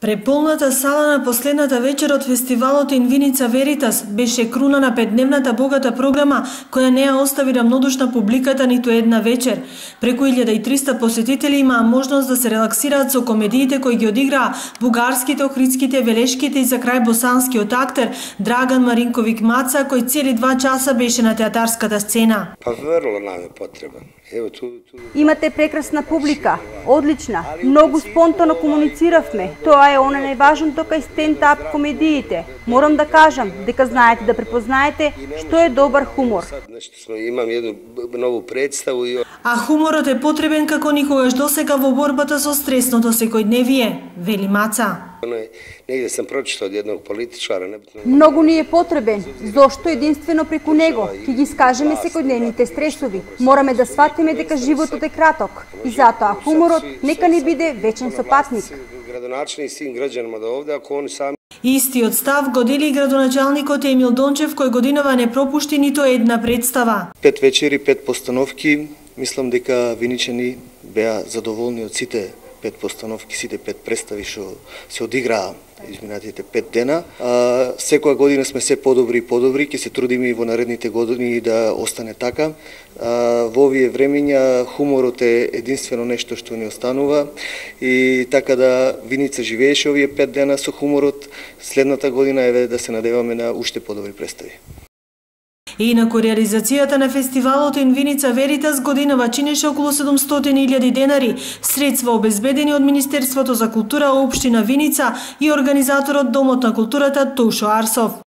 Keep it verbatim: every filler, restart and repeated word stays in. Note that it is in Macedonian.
Преполната сала на последната вечер од фестивалот In Vinica Veritas беше круна на петдневната богата програма која не ја остави рамнодушна публиката ниту една вечер. Преку илјада и триста посетители имаа можност да се релаксираат со комедиите кои ги одиграа бугарските, охридските, велешките и за крај босанскиот актер Драган Маринковик Маца, кој цели два часа беше на театарската сцена. Па врло нам е потребен. Ево, ту, ту... Имате прекрасна публика, одлична, многу спонтано комунициравме. Тоа е она најважното кај стенд-ап комедиите. Морам да кажам дека знаете да препознаете што е добар хумор. Имам едну нову представу. А хуморот е потребен како никогаш досега во борбата со стресното секојдневие, вели Маца. Негде сам прочитал од едnog политичара. Многу ни е потребен, зошто единствено преку него ќе ги скажеме секојдневните стресови. Мораме да сватиме дека животот е краток и затоа хуморот нека не биде вечен сопатник. Градоначалник син граѓанима до овде, ако они сами. Истиот став го дели и градоначалникот Емил Дончев, кој годинава не пропушти ниту една представа. Пет вечери, пет постановки. Мислам дека виничани беа задоволни од сите пет постановки, сите пет представи што се одиграа изминатите пет дена. А, секоја година сме се подобри и подобри, ќе се трудиме и во наредните години да остане така. А, во овие времења хуморот е единствено нешто што ни останува и така да Виница живееше овие пет дена со хуморот. Следната година е да се надеваме на уште подобри представи. Инаку реализацијата на фестивалот In Vinica Veritas годинава чинеше околу седумстотини илјади денари, средства обезбедени од Министерството за култура, општина Виница и организаторот Домот на културата Тошо Арсов.